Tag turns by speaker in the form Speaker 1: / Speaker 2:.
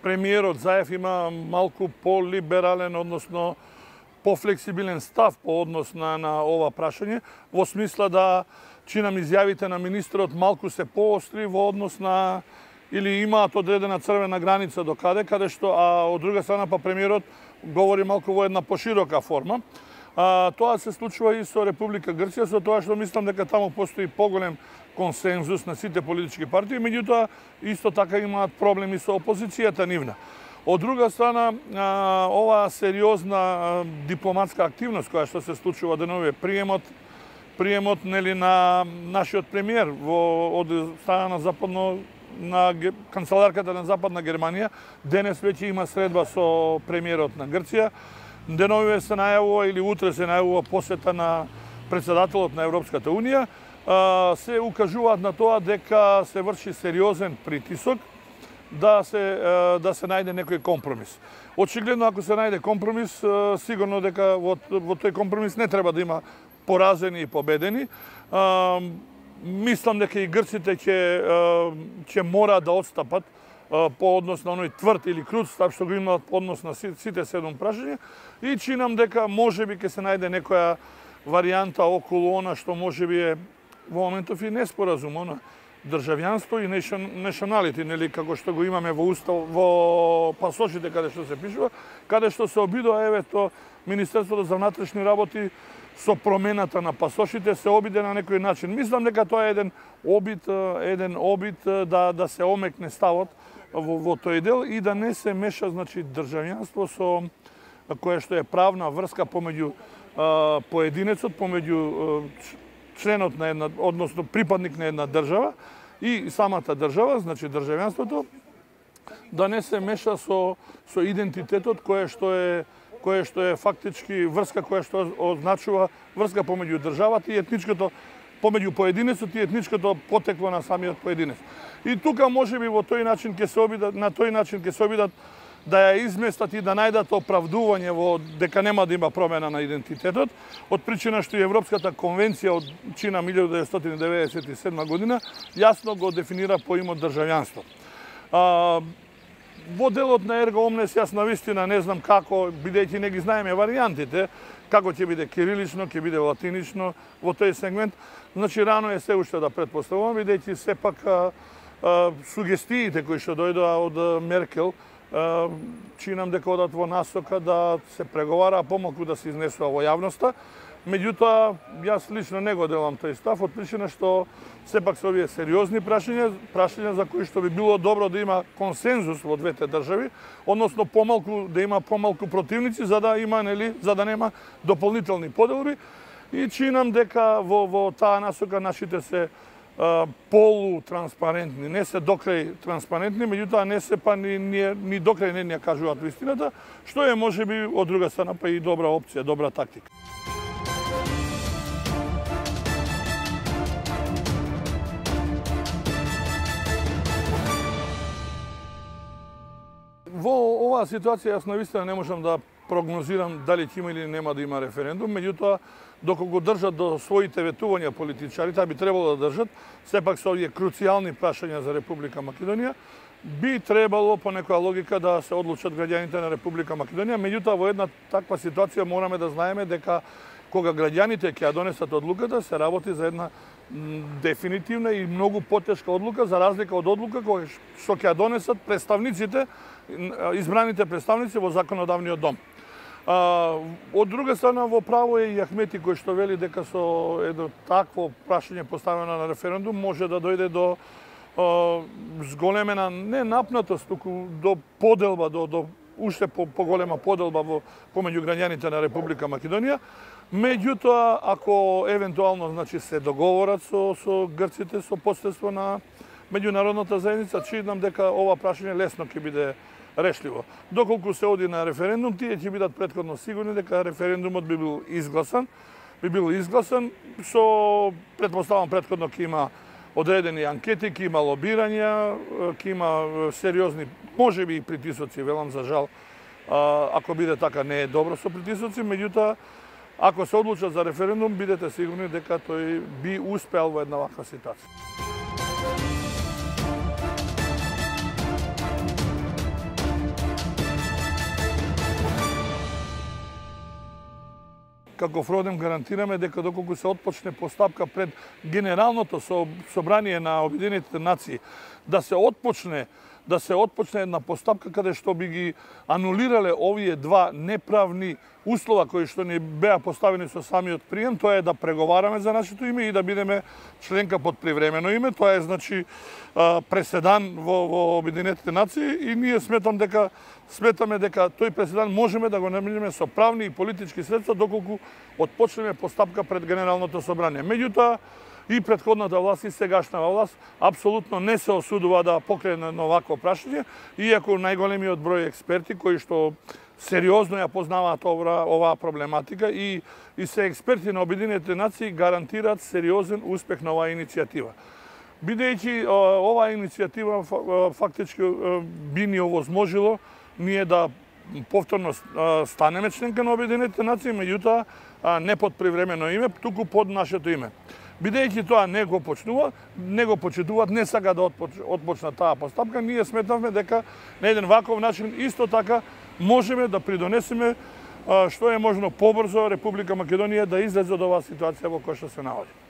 Speaker 1: премиерот Заев има малку по-либерален, односно по-флексибилен став по однос на ова прашање, во смисла да чинам изјавите на министрот малку се поостри во однос на или имаат одредена црвена граница до каде што, а од друга страна па премиерот говори малку во една поширока форма. Тоа се случува и со Република Грција, со тоа што мислам дека таму постои поголем консензус на сите политички партии, меѓутоа исто така имаат проблеми со опозицијата нивна. Од друга страна, оваа сериозна дипломатска активност која што се случува деновиве, приемот нели на нашиот премиер од страна на канцеларката на Западна Германија, денес веќе има средба со премиерот на Грција. Деновиве се најавува или утре се најавува посета на председателот на Европската унија. Се укажуваат на тоа дека се врши сериозен притисок да се најде некој компромис. Очигледно, ако се најде компромис, сигурно дека во тој компромис не треба да има поразени и победени. Мислам дека и грците ќе мора да отстапат по однос на оној тврд или крут став што го имаат по однос на сите 7 прашања и чинам дека можеби ќе се најде некоја варијанта околу она што можеби е во моментов и неспоразум, она државјанство и националити, нели како што го имаме во устав, во пасошите каде што се пишува, каде што се обидува евето Министерството за внатрешни работи со промената на пасошите се обиде на некој начин. Мислам дека тоа е еден обид да се омекне ставот во тој дел и да не се меша државјанство со кое што е правна врска помеѓу поединецот, помеѓу членот на една, односно припадник на една држава и самата држава, државјанството, да не се меша со идентитетот кој што е фактички врска која што означува врска помеѓу државата и етничкото, помеѓу поединецот и етничкото потекло на самиот поединец. И тука можеби во тој начин ќе се обидат да ја изместат и да најдат оправдување дека нема да има промена на идентитетот, од причина што и Европската конвенција од чина 1997 година јасно го дефинира поимот државјанство. Во делот на Ерго Омнес јас навистина не знам како, бидејќи не ги знаеме варијантите, како ќе биде кирилично, ќе биде латинично во тој сегмент. Значи рано е се уште да претпоставувам, бидејќи сепак сугестиите кои што дојдоа од Меркел чинам дека одат во насока да се преговара, помалку да се изнесува во јавноста. Меѓутоа, јас лично не го делам тој став, од причина што сепак се овие сериозни прашања за кои што би било добро да има консензус во двете држави, односно да има помалку противници за да нема дополнителни поделби. И чинам дека во таа насока нашите се полутранспарентни, не се докрај транспарентни, меѓутоа не се па ни докрај не ја кажуваат вистината, што е можеби од друга страна па и добра опција, добра тактика. Во оваа ситуација јас навистина не можам да прогнозирам дали ќе има или нема да има референдум, меѓутоа доколку го држат до своите ветувања политичарите, а би требало да држат, сепак со овие круцијални прашања за Република Македонија, би требало по некоја логика да се одлучат граѓаните на Република Македонија, меѓутоа во една таква ситуација мораме да знаеме дека кога граѓаните ќе ја донесат одлуката, се работи за една дефинитивна и многу потешка одлука, за разлика од одлука која што ќе ја донесат представниците, избраните представници во законодавниот дом. Од друга страна, во право е и Ахмети кој што вели дека со едно такво прашање поставено на референдум може да дојде до зголемена не напнатост, туку до поделба, до уште поголема поделба помеѓу граѓаните на Република Македонија. Меѓутоа, ако евентуално се договорат со грците, со посредство на меѓународната заедница, чинам дека ова прашање лесно ќе биде решливо. Доколку се оди на референдум, тие ќе бидат претходно сигурни дека референдумот би бил изгласан, со претпоставам претходно ќе има одредени анкети, ќе има лобирања, ќе има сериозни, можеби и притисоци, велам за жал, ако биде така не е добро со притисоци, меѓутоа ако се одлучат за референдум, бидете сигурни дека тој би успеал во една ваква ситуација.
Speaker 2: како ФРОДЕМ гарантираме дека доколку се отпочне постапка пред Генералното собрание на Обединетите нации, да се отпочне една постапка каде што би ги анулирале овие два неправни услова кои што ни беа поставени со самиот прием, тоа е да преговараме за нашето име и да бидеме членка под привремено име. Тоа е значи преседан во Обединетите нации и ние сметаме дека тој преседан можеме да го намалиме со правни и политички средства доколку отпочнеме постапка пред Генералното собрание. Меѓутоа, и претходната власт и сегашната власт апсолутно не се осудува да покрене на овакво прашање, иако најголемиот број експерти кои што сериозно ја познаваат оваа проблематика и се експерти на Обединетите нации гарантираат сериозен успех на оваа иницијатива. Бидејќи оваа иницијатива фактички би ни овозможило ние да повторно станеме членка на Обединетите нации, меѓутоа не под привремено име, туку под нашето име. Бидејќи тоа не го почитуваат, не сака да отпочна таа постапка, ние сметавме дека на еден ваков начин исто така можеме да придонесеме што е можно побрзо Република Македонија да излезе од оваа ситуација во која што се наоѓа.